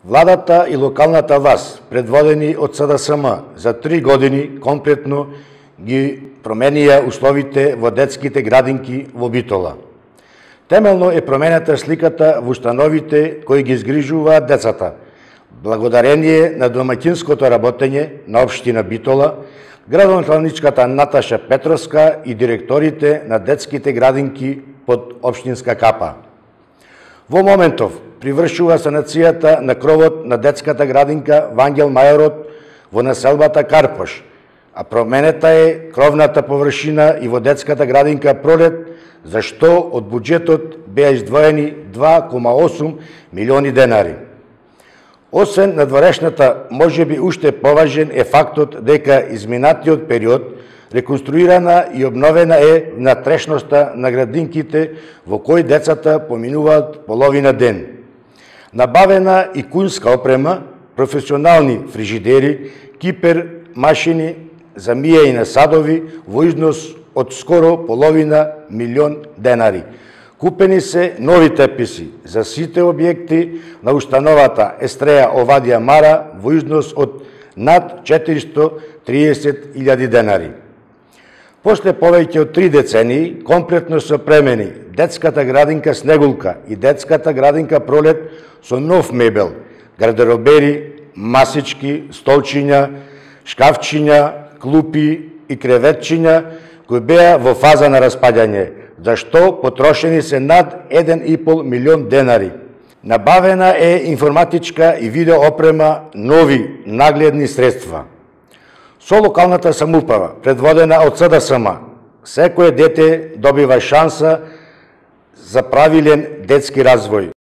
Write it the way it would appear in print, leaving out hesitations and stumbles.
Владата и локалната власт, предводени од СДСМ, за 3 години комплетно ги променија условите во детските градинки во Битола. Темелно е променета сликата во установите кои ги згрижуваат децата, благодарение на домаќинското работење на општина Битола, градоначалничката Наташа Петровска и директорите на детските градинки под општинска капа. Во моментов привршува санацијата на кровот на детската градинка Вангел Мајорот во населбата Карпош, а променета е кровната површина и во детската градинка Пролет, за што од буџетот беа издвоени 2,8 милиони денари. Освен надворешната, можеби уште поважен е фактот дека изминатиот период реконструирана и обновена е внатрешноста на градинките во кои децата поминуваат половина ден. Набавена и кунска опрема, професионални фрижидери, кипер, машини за миење на садови во износ од скоро половина милион денари. Купени се нови теписи за сите објекти на установата Естреја Овадија Мара во износ од над 430.000 денари. После повеќе од 3 децении, комплетно се премени детската градинка Снегулка и детската градинка Пролет со нов мебел, гардеробери, масички, столчиња, шкафчиња, клупи и креветчиња кои беа во фаза на распаѓање, за што потрошени се над 1,5 милион денари. Набавена е информатичка и видео опрема, нови нагледни средства. Со локалната самоуправа, предводена од СДСМ, секое дете добива шанса за правилен детски развој.